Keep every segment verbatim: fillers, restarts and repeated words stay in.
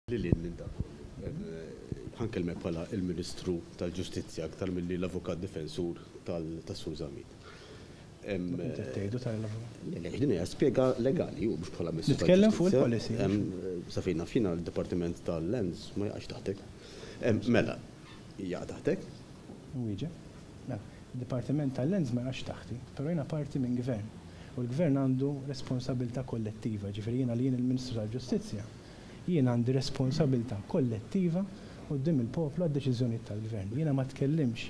Lil minn dak ħa nkellmek bħala il-Ministru tal-Ġustizzja aktar milli l-Avukat Difensur tas-Sur Zammit. Tgħidu tal-avukat. Din hija spjega legali u mhux bħala Ministru. Nitkellem fuq il-policy. Sa fejn naf jiena, l-Dipartiment tal-Lands ma jaqax taħtek. Mela, jaqa' taħtek? Wieġeb. Mela, il-Dipartiment tal-Lands ma jaqax taħti, però jiena parti minn gvern. U l-gvern għandu responsabilità kollettiva, ġifieri jiena li jien il-Ministru tal-Ġustizzja, jien għandi responsabilità kollettiva quddiem il-poplu għad-deċiżjonijiet tal-gvern. Jiena ma tkellimx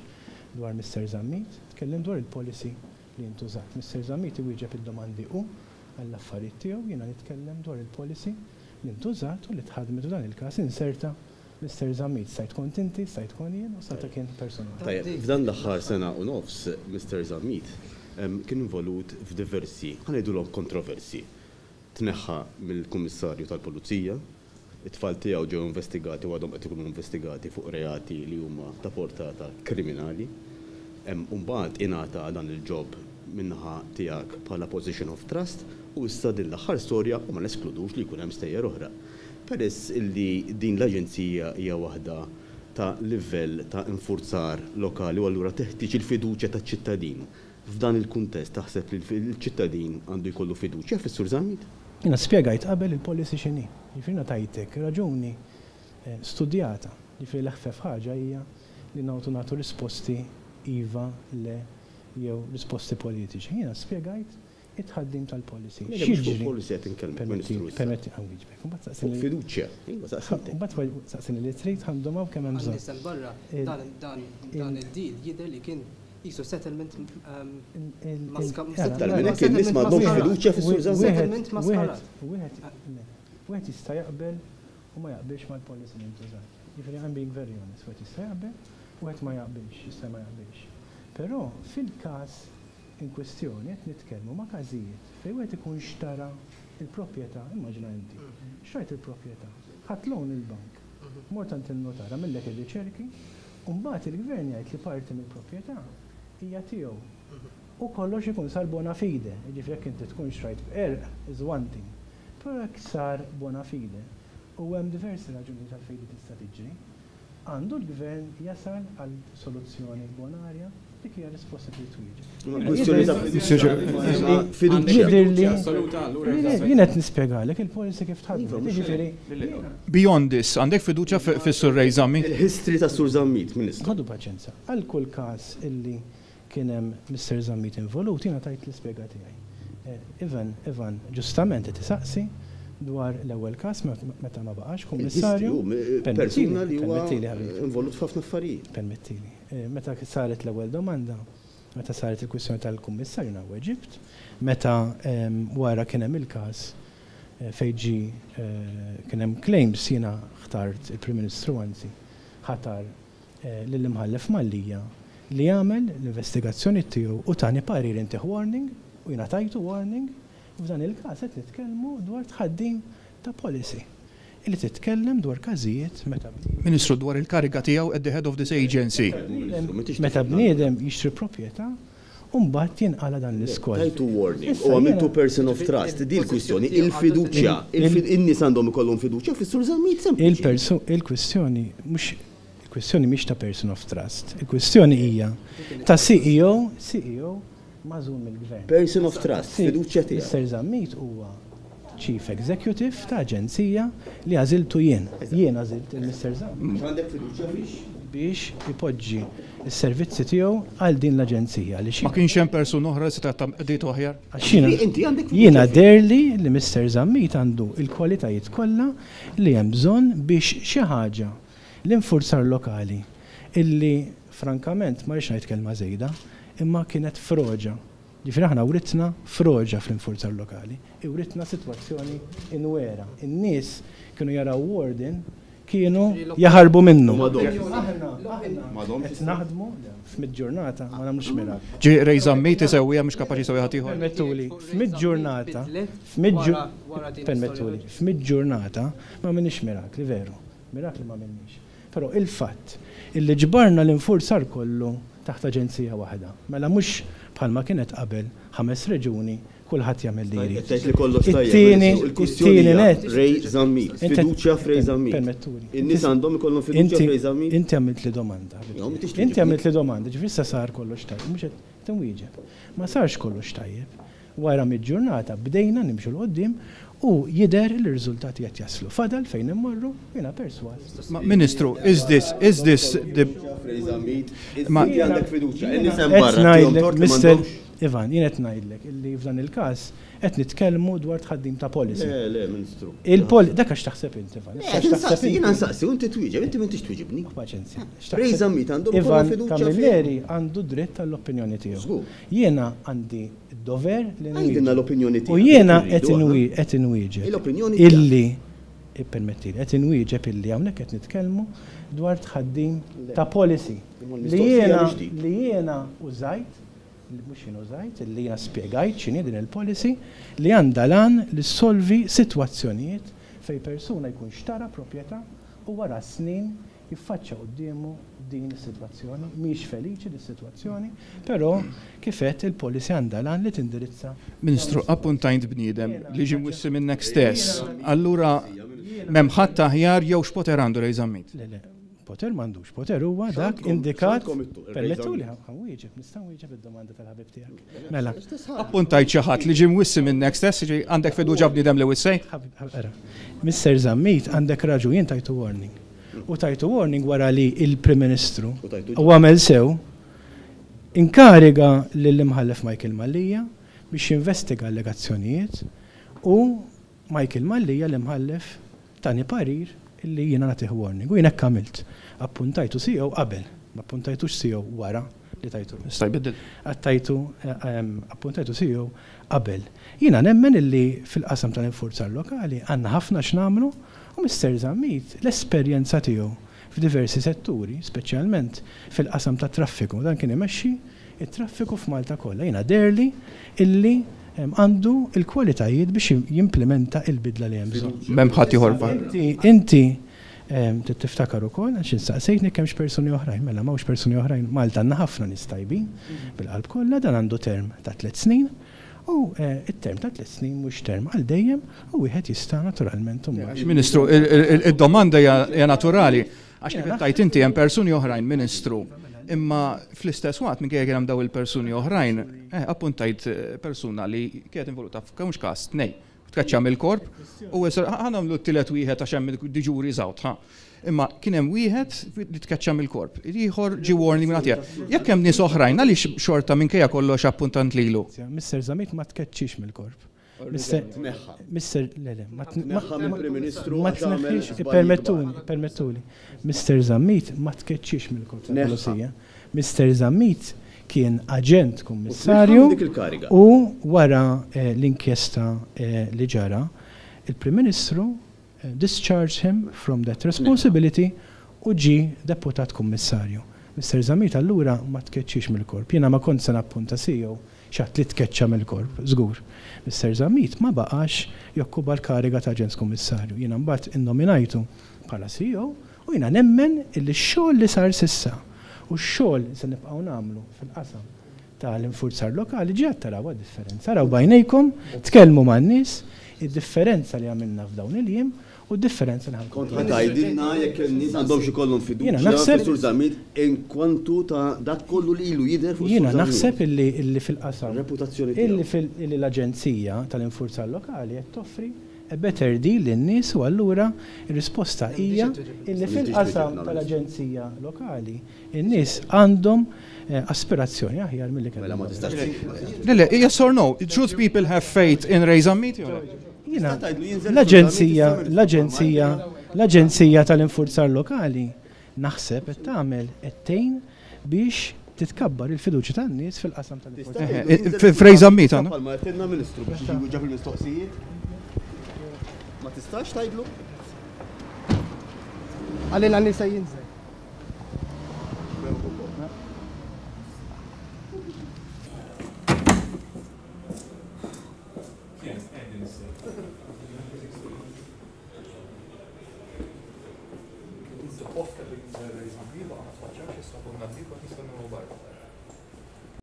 dwar Mister Zammit, tkellim dwar il-policy li intużat. Mister Zammit iwieġeb id-domandi u għall-affarijiet tiegħu, jiena nitkellem dwar il-policy li ntużat u li tħadmet u dan il-każ inserta Mister Zammit. Stajt kont inti, stajt kont jien u stajt kien personali. Tajjeb, f'dan l-aħħar sena u nofs, Mister Zammit kien involut f'diversi, ħa ngħidulhom kontroversi. Tneħħa mill-Kummissarju tal-Pulizija, it-tfal tiegħu ġew investigati u għadhom qed ikunu investigati fuq reati li huma ta' portata kriminali. Mbagħad ingħata dan il-job min-naħa tiegħek bħala position of trust u issa din l-aħħar storja u ma neskludux li jkun hemm stejjer oħra. Peress illi din l-aġenzija hija waħda ta' livell ta' infurzar lokali u allura teħtieġ il-fiduċja taċ-ċittadin. F'dan il-kuntest taħseb li l-ċittadin għandu jkollu fiduċja fis-Sur Zammit? Jiena spjegajt qabel il-policy x'inhi. Jiġifieri tajtek raġuni eh, studjata. Jiġifieri l-eħfef ħaġa hija li nagħtu nagħtu risposti iva, le, jew risposti politiċi. Jiena spjegajt it-tħaddim tal-policy. X'jiġri? Policy qed inkellmek, Ministru. Permetti, ħa nwieġbek. Mbagħad saqsini. Fiduċja. Iva, saqsejtek. Mbagħad saqsini li trid, ħa ndum hawn kemm hemm bżonn. Għan barra, dan dan dan il-deal jidher li kien qisu settlement um, maska- Aktar minn hekk, in-nies m'għandhomx fiduċja fis-Sur Zammit. Settlement maskarat. Wieħed wieħed jista' jaqbel u ma jaqbilx mal-policy li ntużat. Jiġifieri I'm being very honest, wieħed jista' jaqbel, wieħed ma jaqbilx, jista' ma jaqbilx. Però fil-każ in kwestjoni qed nitkellmu ma' każijiet fejn wieħed ikun xtara il-proprjetà, immaġina inti, xtrajt il-proprjetà, ħadt loan il-bank, mort għand il-notar, għamillek ir-riċerki, u mbagħad il-gvern jgħid li parti mill-proprjetà hija tiegħu. U kollox ikun sar bona fide, jiġifieri jekk inti tkun xtrajt b'qerq is one thing. Però jekk sar bona fide u hemm diversi raġuni tal-fejn di tista' tiġri, għandu l-gvern jasal għal soluzzjoni bonarja? Dik hija risposta li twieġeb. Kwestjoni ta' fiduċja. Jidhirli Assoluta, allura. Jien qed nispjegalek il-policy kif tħaddem. Jiġifieri Beyond this, għandek fiduċja fis-Sur Ray Zammit? Il-history ta' Sur Zammit, Ministru. Ħadu paċenza. Għal kull każ illi kien hemm Mister Zammit involut, jiena tajt l-ispjega tiegħi. Eh, Ivan, Ivan, ġustament qed isaqsi dwar l-ewwel każ meta ma baqax kummissarju. Persuna li huwa Permettili, ħabib. involut f'ħafna affarijiet. Permettili. Eh, Meta saret l-ewwel domanda, meta saret il-kwistjoni tal-kummissarju, jiena weġibt, meta em, wara kien hemm il-każ eh, fejn ġi eh, kien hemm claims, jiena ħtart, il-Prim Ministru anzi ħatar eh, lill-Imħallef Mallia li jagħmel l-investigazzjoni tiegħu u tani parir intih warning u jiena tajtu warning. U f'dan il-każ qed nitkellmu dwar tħaddim ta' policy illi titkellem dwar każijiet meta Ministru, dwar il-kariga tiegħu at the head of this agency. Ministru, m'intix meta tifhem. Bniedem jixtri proprjetà u mbagħad jinqala dan l-iskoll. Tajtu warning Issa u għamiltu jiena- person of trust. Di l-kwistjoni, il-fiduċja. Il- In-nies għandhom ikollhom fiduċja fis-Sur Zammit, sempliċi. Il-persu il-kwistjoni mhux il-kwistjoni mhix ta' person of trust. Il-kwistjoni hija ta' C E O, C E O magħżul mill-gvern. Person of trust, fiduċja tiegħek. Mister Zammit huwa Chief Executive ta' aġenzija li għażiltu jien. Jien għażilt il-Mister Zammit Għandek fiduċja fih? Biex ipoġġi s-servizzi tiegħu għal din l-aġenzija li Ma kienx hemm persuna oħra li seta' qdiet aħjar? Għax jiena- Inti għandek fiduċja Jiena fih. deherli li Mister Zammit għandu il-kwalitajiet kollha li hemm bżonn biex xi ħaġa l-infurzar lokali illi frankament ma rridx ngħid kelma żejda, imma kienet froġa. Ġifieri aħna writna froġa fl-infurzar lokali, iwritna sitwazzjoni inwera. In-nies kienu jaraw warden kienu jaħarbu minnu. U m'għadhomx. Aħna aħna M'għadhomx. Qed naħdmu f'mitt ġurnata ma nagħmlux miraklu. Ġi Ray Zammit isewwija mhux kapaċi jsewwi ħadd ieħor. Permettuli, f'mitt ġurnata, Bidlet f'mitt wara- wara din permettuli, l-istorja. f'mitt ġurnata ma minix mirakli, veru. Mirakli ma minix. Però il-fatt illi ġbarna l-infurzar kollu taħt aġenzija waħda. Mela mhux bħalma kienet qabel ħames reġuni Kulħadd jagħmel li jrid. Tgħid li kollox tajjeb. It-tieni, Il-kwistjoni it-tieni hija net. Ray Zammit, Inti- fiduċja f'Ray Zammit. Permettuli. In-nies għandhom ikollhom fiduċja Inti- f'Ray Zammit. Inti għamilt li domanda. Jo, m'intix Inti tweġibni. għamilt li domanda, ġifieri issa sar kollox tajjeb, mhux qed tinwieġeb. Ma sarx kollox tajjeb. Wara mid-ġurnata bdejna nimxu 'l quddiem u jidher li r-riżultati qed jaslu. Fadal fejn immorru, jiena perswas. Ma, Ministru, is this, is this the F'Ray Zammit, Ma- inti għandek fiduċja. In-nies hemm Qed barra tihom ngħidlek, tort li Mister m'għandhomx. Ivan, jien qed ngħidlek illi f'dan il-każ qed nitkellmu dwar tħaddim ta' policy. Le, le, Ministru. Il-pol dak għax taħseb inti, Ivan. Le, Issa x'taħseb nsaqsi, jiena inti? nsaqsi, u inti twieġeb, inti m'intix tweġibni. Paċenzja. X'taħseb- Ray Zammit għandhom Ivan ikollhom fiduċja Camilleri għandu dritt għall-opinjoni tiegħu. Żgur. Jiena għandi d-dover li Għidilna nwieġeb. l-opinjoni tiegħek. U jiena dik qed irridu aħna. inwi- qed inwieġeb. L-opinjoni tiegħek. Illi ippermettili, qed inwieġeb illi hawnhekk qed nitkellmu dwar tħaddim ta' policy Imma li l-mistoqsija jiena mhix dik. li jiena użajt li mhux jien użajt, illi jiena spjegajt x'inhi din il-policy li għandha l-għan li ssolvi sitwazzjonijiet fejn persuna jkun xtara proprjetà u wara snin jiffaċċja quddiemu din is-sitwazzjoni, mhix feliċi dis sitwazzjoni, però kif għedt il-policy għandha l-għan li tindirizza Ministru, appuntajt bniedem li ġie mwissi minnek stess. Allura, m'hemm ħadd aħjar jew x'poter għandu Ray Zammit? Le, le, poter m'għandux, poter huwa dak X'għandkom- indikat. x'għandkom ittu- Permettuli, ħa nwieġeb, nista' nwieġeb id-domanda tal-ħabib tiegħek. Mela, Appuntajt xi ħadd li ġie mwissi minnek stess, ġi għandek fiduċja bniedem li wissej? ħabib, ħabib, ara. Mister Zammit għandek raġun, jien tajtu warning. U tajtu warning wara li il-Prim Ministru U tajtu u għamel sew inkariga lill-imħallef Michael Mallia biex jinvestiga allegazzjonijiet u Michael Mallia l-imħallef tani parir illi jiena nagħtih warning. U jien hekk għamilt. Appuntajtu C E O qabel, ma appuntajtux C E O wara li tajtu. Sta jbiddel. Għattajtu, appuntajtu C E O qabel. Jiena nemmen illi fil-qasam tal-infurzar lokali għandna ħafna x'nagħmlu u Mister Zammit l-esperjenza tiegħu f'diversi setturi, speċjalment fil-qasam tat traffiku, dan kien imexxi it-traffiku f'Malta kollha. Jiena deherli illi em, għandu il-kwalitajiet biex jimplementa il-bidla li hemm bżonn. M'hemm ħadd ieħor fa. Inti, inti em, trid tiftakar ukoll għax insaqsejtni kemmx persuni oħrajn, mela m'hawnx persuni oħrajn, Malta għandna ħafna nies tajbin bil-qalb kollha, dan għandu term ta' tliet snin u eh, it-term ta' tliet snin mhux term għal dejjem u wieħed jista' naturalment imbagħad. Ministru, il- il- il-domanda hija hija naturali. Għax kif tajt inti hemm persuni oħrajn, Ministru. Imma fl-istess waqt minkejja kien hemm daw il-persuni oħrajn, eh, appuntajt eh, persuna li kienet involuta f'kemx każ tnej. Tkaċċa mill-korp u issa ħa nagħmlu t-tielet wieħed għax hemm the jury's out, ha. Imma kien hemm wieħed li tkaċċa mill-korp. Ieħor ġie warning minn għatija. Jekk hemm nies oħrajn għaliex xorta minkejja kollox appuntant lilu? Mister Zammit ma tkeċċix mill-korp. Mister Tneħħa. Mister le, le, ma tn- ma- Tneħħa mill-Prim Ministru ma għax għamel tneħħix, żbalji permettuli, kbar. permettuli. Mister Zammit ma tkeċċix mill-korp Tneħħa. tal-Pulizija. Mister Zammit kien aġent kummissarju U tneħħa dik il-kariga. u wara eh, l-inkjesta eh, li ġara, il-Prim Ministru eh, discharged him from that responsibility u ġi deputat kummissarju. Mister Zammit allura ma tkeċċix mill-korp. Jiena ma kont se nappunta C E O xi ħadd li tkeċċa mill-korp, żgur. Mister Zammit ma baqax jokkupa l-kariga ta' aġent kummissarju. Jiena mbagħad innominajtu bħala C E O u jiena nemmen illi x-xogħol li sar s'issa u x-xogħol li se nibqgħu nagħmlu fil-qasam tal-infurzar lokali ġi taraw differenza. Raw b'għajnejkom, tkellmu man-nies, id-differenza li għamilna f'dawn il-jiem u d-differenza li Kont ħankun. ħa tgħidilna jekk in-nies għandhom xi kollhom Jiena fiduċja naħseb- fis-Sur Zammit in kwantu ta' dak kollu li ilu jidher fuq Jiena Sur Zammit. naħseb illi illi fil-qasam Reputazzjoni illi tiegħu. fil- illi l-Aġenzija tal-Infurzar Lokali qed toffri a better deal lin-nies u allura ir-risposta hija illi fil-qasam tal-Aġenzija Lokali in-nies għandhom eh, aspirazzjoni aħjar milli Mela ma kellhom. tistax. Le, le, yes or no? Should people have faith in Ray Zammit? Jew le? Jiena Tista' tgħidlu jinżel l-Aġenzija Sur Zammit, l-Aġenzija l-Aġenzija tal-Infurzar Lokali naħseb qed tagħmel qed tgħin biex titkabbar il-fiduċja tan-nies fil-qasam tal-infurzar. Eh, eh, F'Ray Zammit, għandu? Palma għedtilna Ministru biex jiġi ġab il-mistoqsijiet. Ma tistax tgħidlu? Għalina nisa jinżel.